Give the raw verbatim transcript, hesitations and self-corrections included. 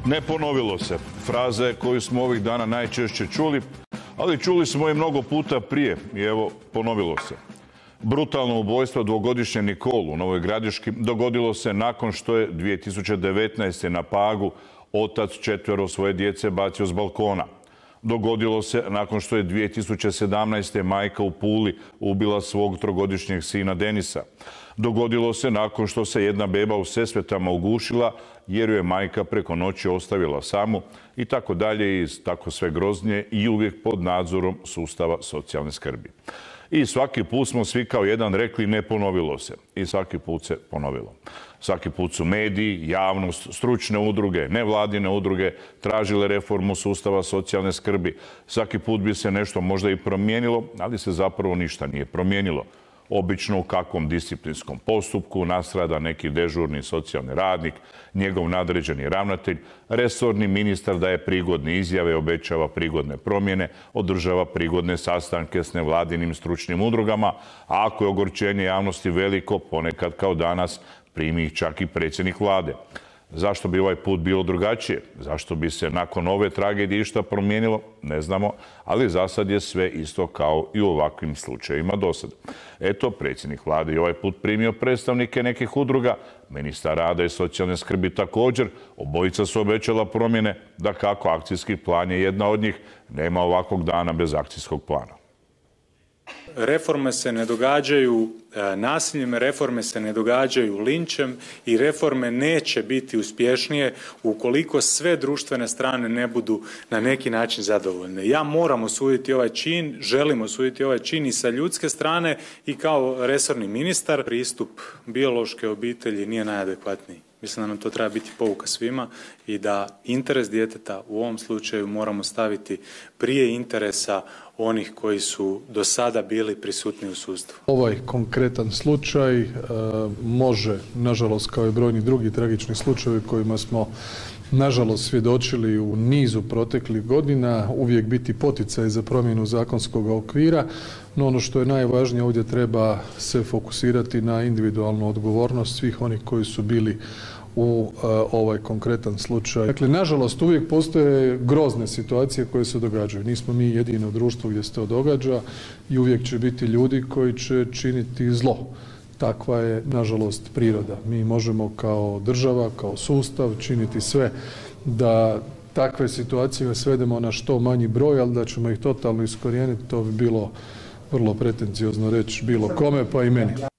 Ne ponovilo se. Fraze koju smo ovih dana najčešće čuli, ali čuli smo i mnogo puta prije i evo ponovilo se. Brutalno ubojstvo dvogodišnje Nikolu u Novoj Gradiški dogodilo se nakon što je dvije tisuće devetnaeste. na Pagu otac četvero svoje djece bacio s balkona. Dogodilo se nakon što je dvije tisuće sedamnaeste. majka u Puli ubila svog trogodišnjeg sina Denisa. Dogodilo se nakon što se jedna beba u Sesvetama ugušila jer ju je majka preko noći ostavila samu i tako dalje i tako sve groznije i uvijek pod nadzorom sustava socijalne skrbi. I svaki put smo svi kao jedan rekli ne ponovilo se. I svaki put se ponovilo. Svaki put su mediji, javnost, stručne udruge, nevladine udruge tražile reformu sustava socijalne skrbi. Svaki put bi se nešto možda i promijenilo, ali se zapravo ništa nije promijenilo. Obično u kakvom disciplinskom postupku nastrada neki dežurni socijalni radnik, njegov nadređeni ravnatelj, resorni ministar daje prigodne izjave, obećava prigodne promjene, održava prigodne sastanke s nevladinim stručnim udrugama, a ako je ogorčenje javnosti veliko, ponekad kao danas, primi ih čak i predsjednik vlade. Zašto bi ovaj put bilo drugačije? Zašto bi se nakon ove tragedije išta promijenilo? Ne znamo, ali za sad je sve isto kao i u ovakvim slučajevima do sada. Eto, predsjednik vlade je ovaj put primio predstavnike nekih udruga, ministar rada i socijalne skrbi također, obojica su obećala promjene, da kako akcijski plan je jedna od njih, nema ovakvog dana bez akcijskog plana. Reforme se ne događaju nasiljem, reforme se ne događaju linčem i reforme neće biti uspješnije ukoliko sve društvene strane ne budu na neki način zadovoljne. Ja moram osuditi ovaj čin, želim osuditi ovaj čin i sa ljudske strane i kao resorni ministar. Pristup biološke obitelji nije najadekvatniji. Mislim da nam to treba biti pouka svima i da interes djeteta u ovom slučaju moramo staviti prije interesa onih koji su do sada bili prisutni u sustavu. Ovaj konkretan slučaj e, može, nažalost, kao i brojni drugi tragični slučajevi kojima smo nažalost svjedočili u nizu proteklih godina, uvijek biti poticaj za promjenu zakonskog okvira, no ono što je najvažnije ovdje treba se fokusirati na individualnu odgovornost svih onih koji su bili u uh, ovaj konkretan slučaj. Dakle, nažalost, uvijek postoje grozne situacije koje se događaju. Nismo mi jedino društvo gdje se to događa i uvijek će biti ljudi koji će činiti zlo. Takva je, nažalost, priroda. Mi možemo kao država, kao sustav činiti sve da takve situacije svedemo na što manji broj, ali da ćemo ih totalno iskorijeniti, to bi bilo vrlo pretenciozno reći bilo kome, pa i meni.